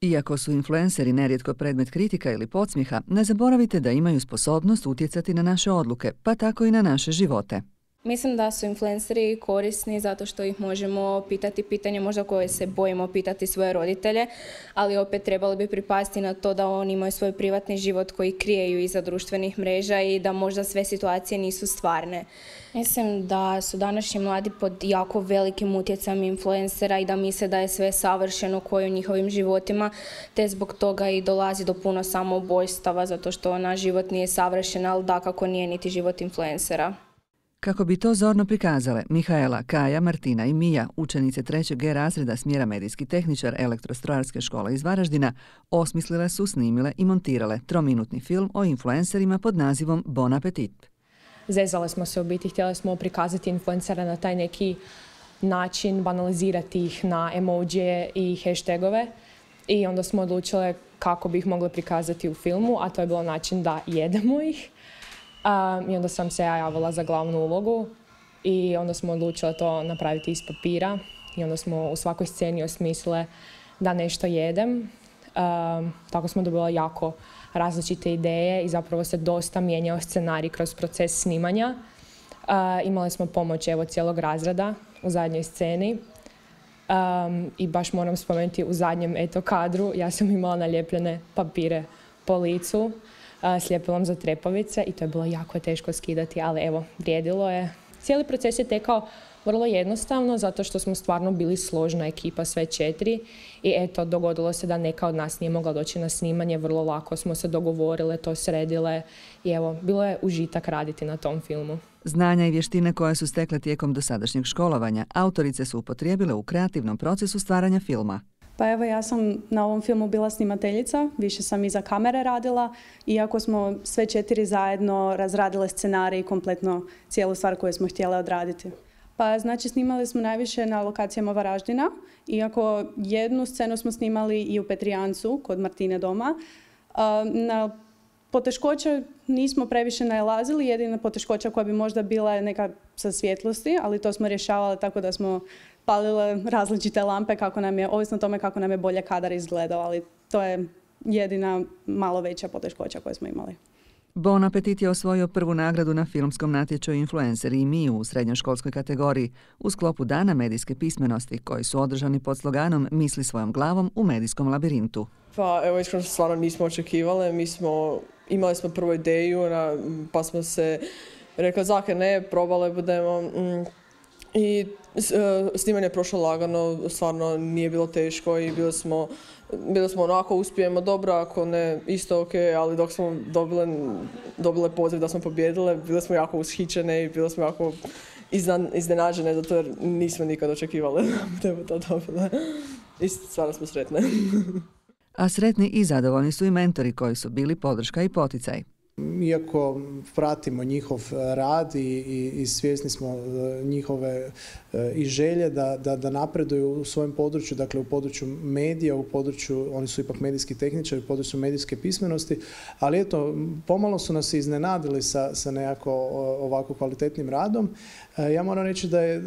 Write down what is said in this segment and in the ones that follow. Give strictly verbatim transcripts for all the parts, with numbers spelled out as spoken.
Iako su influenceri nerijetko predmet kritika ili podsmijeha, ne zaboravite da imaju sposobnost utjecati na naše odluke, pa tako i na naše živote. Mislim da su influenceri korisni zato što ih možemo pitati pitanje možda koje se bojimo pitati svoje roditelje, ali opet trebali bi pripasti na to da oni imaju svoj privatni život koji krijeju iza društvenih mreža i da možda sve situacije nisu stvarne. Mislim da su današnji mladi pod jako velikim utjecajem influencera i da misle da je sve savršeno koje u njihovim životima, te zbog toga i dolazi do puno samoubojstava zato što naš život nije savršen, ali dakako nije niti život influencera. Kako bi to zorno prikazale, Mihaela, Kaja, Martina i Mija, učenice trećeg G razreda smjera medijski tehničar Elektrostrojarske škole iz Varaždina, osmislile su, snimile i montirale trominutni film o influencerima pod nazivom Bon Appetit. Zezale smo se u biti, htjeli smo prikazati influencera na taj neki način, banalizirati ih na emojije i hashtagove i onda smo odlučile kako bi ih mogli prikazati u filmu, a to je bilo način da jedemo ih. Um, I onda sam se ja javila za glavnu ulogu i onda smo odlučili to napraviti iz papira i onda smo u svakoj sceni osmislile da nešto jedem. Um, tako smo dobili jako različite ideje i zapravo se dosta mijenjao scenarij kroz proces snimanja. Uh, imali smo pomoć evo cijelog razreda u zadnjoj sceni um, i baš moram spomenuti u zadnjem eto kadru ja sam imala nalijepljene papire po licu s ljepilom za trepavice i to je bilo jako teško skidati, ali evo, vrijedilo je. Cijeli proces je tekao vrlo jednostavno zato što smo stvarno bili složna ekipa, sve četiri i eto, dogodilo se da neka od nas nije mogla doći na snimanje, vrlo lako smo se dogovorile, to sredile i evo, bilo je užitak raditi na tom filmu. Znanja i vještine koje su stekle tijekom dosadašnjeg školovanja, autorice su upotrijebile u kreativnom procesu stvaranja filma. Pa evo, ja sam na ovom filmu bila snimateljica, više sam iza kamere radila, iako smo sve četiri zajedno razradile scenarij i kompletno cijelu stvar koju smo htjele odraditi. Pa znači snimali smo najviše na lokacijama Varaždina, iako jednu scenu smo snimali i u Petrijancu kod Martine doma. Na poteškoće nismo previše nailazili, jedina poteškoća koja bi možda bila je neka sa svjetlosti, ali to smo rješavali tako da smo palile različite lampe, kako nam je, ovisno o tome kako nam je bolje kadar izgledao, ali to je jedina malo veća poteškoća koju smo imali. Bon Appetit je osvojio prvu nagradu na filmskom natječaju Influenceri i mi u srednjoškolskoj kategoriji u sklopu Dana medijske pismenosti koji su održani pod sloganom Misli svojom glavom u medijskom labirintu. Pa evo, iskreno stvarno nismo očekivali, mi smo, imali smo prvu ideju pa smo se rekli zake ne, probale budemo. Mm. I snimanje je prošlo lagano, stvarno nije bilo teško i bili smo, bili smo onako uspijemo dobro, ako ne isto ok, ali dok smo dobile, dobile poziv da smo pobjedile, bile smo jako ushićene i bile smo jako iznenađene, zato jer nismo nikad očekivali da bi to dobile. I stvarno smo sretne. A sretni i zadovoljni su i mentori koji su bili podrška i poticaj. Iako pratimo njihov rad i, i, i svjesni smo njihove i želje da, da, da napreduju u svojem području, dakle u području medija, u području, oni su ipak medijski tehničari, u području medijske pismenosti, ali eto, pomalo su nas iznenadili sa, sa nekako ovako kvalitetnim radom. Ja moram reći da je,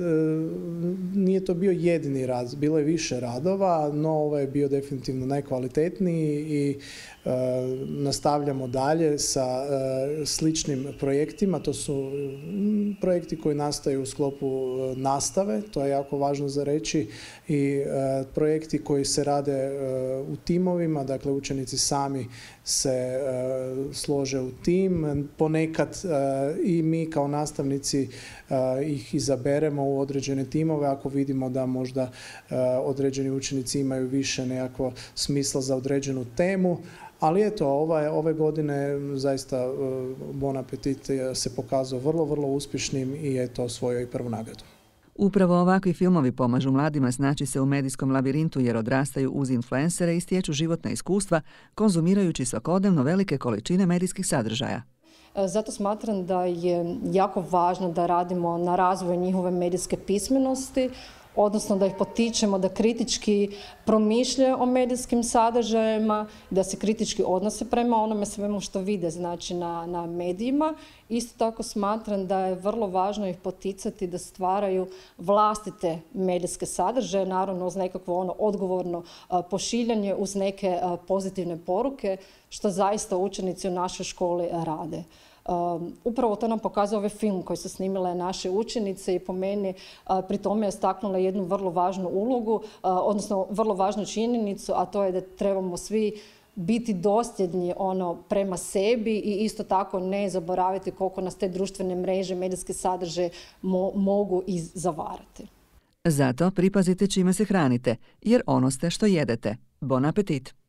nije to bio jedini rad, bilo je više radova, no ovo je bio definitivno najkvalitetniji i e, nastavljamo dalje sa e, sličnim projektima. To su projekti koji nastaju u sklopu nastave, to je jako važno za reći, i e, projekti koji se rade e, u timovima, dakle učenici sami se e, slože u tim. Ponekad e, i mi kao nastavnici e, ih izaberemo u određene timove ako vidimo da možda e, određeni učenici imaju više nekako smisla za određenu temu. Ali eto, ove, ove godine zaista e, Bon Appetit se pokazao vrlo, vrlo uspješnim i eto osvojio i prvu nagradu. Upravo ovakvi filmovi pomažu mladima snaći se u medijskom labirintu jer odrastaju uz influencere i stječu životna iskustva, konzumirajući svakodnevno velike količine medijskih sadržaja. Zato smatram da je jako važno da radimo na razvoju njihove medijske pismenosti, odnosno da ih potičemo da kritički promišljaju o medijskim sadržajima, da se kritički odnose prema onome svemu što vide, znači na, na medijima. Isto tako smatram da je vrlo važno ih poticati da stvaraju vlastite medijske sadržaje, naravno uz nekakvo ono odgovorno a, pošiljanje, uz neke a, pozitivne poruke, što zaista učenici u našoj školi rade. Um, upravo to nam pokazuje ovaj film koji su snimile naše učenice i po meni uh, pri tome je istaknula jednu vrlo važnu ulogu, uh, odnosno vrlo važnu činjenicu, a to je da trebamo svi biti dosljedni ono prema sebi i isto tako ne zaboraviti koliko nas te društvene mreže, medijske sadržaje mo- mogu i zavarati. Zato pripazite čime se hranite, jer ono ste što jedete. Bon apetit!